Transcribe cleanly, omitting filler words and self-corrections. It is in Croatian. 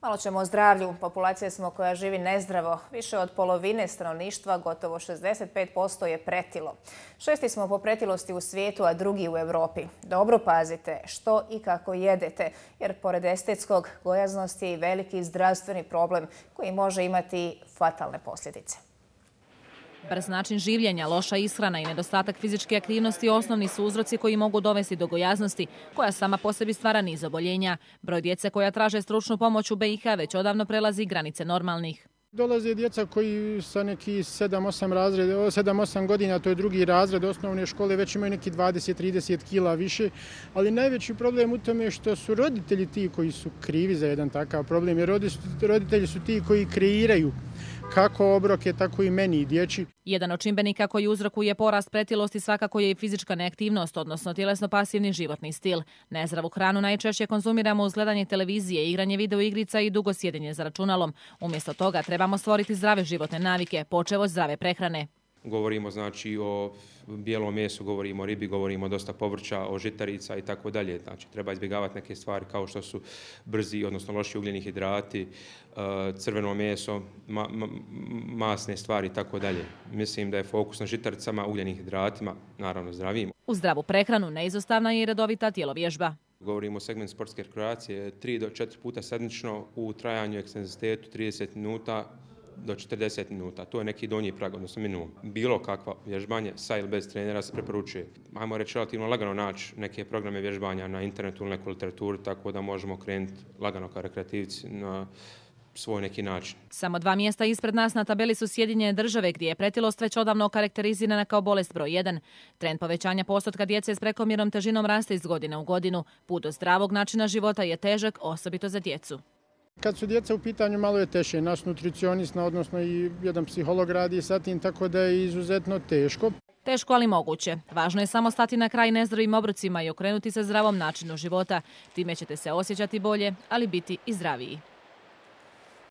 Malo ćemo o zdravlju. Populacija smo koja živi nezdravo. Više od polovine stanovništva, gotovo 65%, je pretilo. 6. smo po pretilosti u svijetu, a drugi u Europi. Dobro pazite što i kako jedete, jer pored estetskog, gojaznost je i veliki zdravstveni problem koji može imati fatalne posljedice. Brz način življenja, loša ishrana i nedostatak fizičke aktivnosti osnovni su uzroci koji mogu dovesti do gojaznosti, koja sama po sebi stvara niz oboljenja. Broj djece koja traže stručnu pomoć u BiH već odavno prelazi granice normalnih. Dolaze djeca koji sa neki 7-8 godina, to je drugi razred osnovne škole, već imaju neki 20-30 kila više, ali najveći problem u tome je što su roditelji ti koji su krivi za jedan takav problem, jer roditelji su ti koji kreiraju kako obroke, tako i meni i dječji. Jedan od čimbenika koji uzrokuje porast pretilosti svakako je i fizička neaktivnost, odnosno tjelesno pasivni životni stil. Nezdravu hranu najčešće konzumiramo uz gledanje televizije, igranje video igrica i dugo sjedenje za računalom. Umjesto toga trebamo stvoriti zdrave životne navike, počev od zdrave prehrane. Govorimo znači o bijelom mesu, govorimo o ribi, govorimo dosta povrća, o žitarica i tako dalje. Znači treba izbjegavati neke stvari kao što su brzi, odnosno loši ugljeni hidrati, crveno meso, masne stvari i tako dalje. Mislim da je fokus na žitaricama, ugljenim hidratima, naravno zdravijim. U zdravu prehranu neizostavna je i redovita tjelovježba. Govorimo o segmentu sportske rekreacije 3 do 4 puta sedmično u trajanju ekstenzitetu 30 minuta do 40 minuta. To je neki donji prag, odnosno minimum. Bilo kakva vježbanje sa ili bez trenera se preporučuje. Ajmo reći relativno lagano naći neke programe vježbanja na internetu ili neku literaturu, tako da možemo krenuti lagano kao rekreativci na svoj neki način. Samo 2 mjesta ispred nas na tabeli su Sjedinjene Države, gdje je pretilost već odavno karakterizirana kao bolest broj 1. Trend povećanja postotka djece s prekomjernom težinom raste iz godine u godinu. Put do zdravog načina života je težak, osobito za djecu. Kad su djeca u pitanju, malo je teže. Naš nutricionist, odnosno i jedan psiholog radi sa tim, tako da je izuzetno teško. Teško, ali moguće. Važno je samo stati na kraj nezdravim obrocima i okrenuti se zdravom načinu života. Time ćete se osjećati bolje, ali biti i zdraviji.